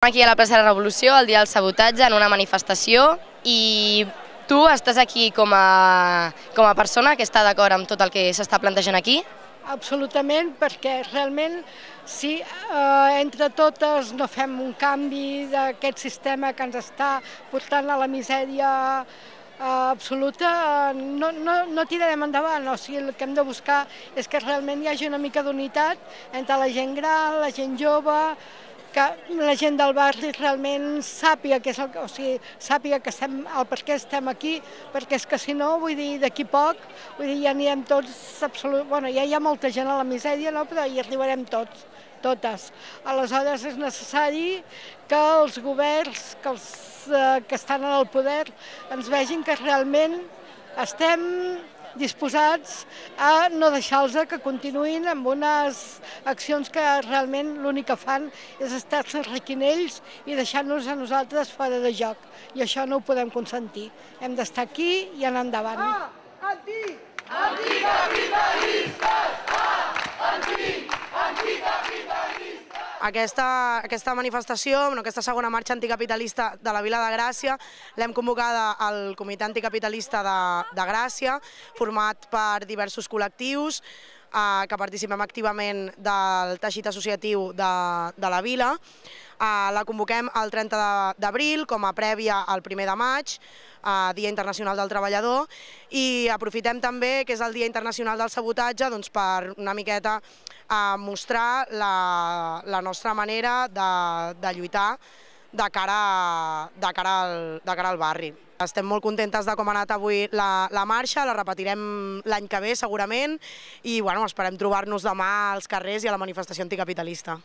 Aquí a la plaça de la Revolució, el dia del sabotatge, en una manifestació, i tu estàs aquí com a persona que està d'acord amb tot el que s'està plantejant aquí? Absolutament, perquè realment si entre totes no fem un canvi d'aquest sistema que ens està portant a la misèria absoluta, no tirarem endavant. O sigui, el que hem de buscar és que realment hi hagi una mica d'unitat entre la gent gran, la gent jove, que la gent del barri realment sàpiga sàpiga que el per què estem aquí, perquè és que si no, vull dir, d'aquí poc, ja anirem tots, bueno, ja hi ha molta gent a la misèria, no? Però hi arribarem tots, totes. Aleshores és necessari que els governs, que estan en el poder, ens vegin que realment estem disposats a no deixar-los que continuïn amb unes accions que realment l'únic que fan és estar-se enriquint ells i deixar-nos a nosaltres fora de joc. I això no ho podem consentir. Hem d'estar aquí i anar endavant. Aquesta manifestació, aquesta segona marxa anticapitalista de la Vila de Gràcia, l'hem convocada al Comitè Anticapitalista de Gràcia, format per diversos col·lectius que participem activament del teixit associatiu de la vila. La convoquem el 30 d'abril com a prèvia al 1 de maig, Dia Internacional del Treballador, i aprofitem també que és el Dia Internacional del Sabotatge per una miqueta mostrar la nostra manera de lluitar de cara al barri. Estem molt contentes de com ha anat avui la marxa, la repetirem l'any que ve segurament i esperem trobar-nos demà als carrers i a la manifestació anticapitalista.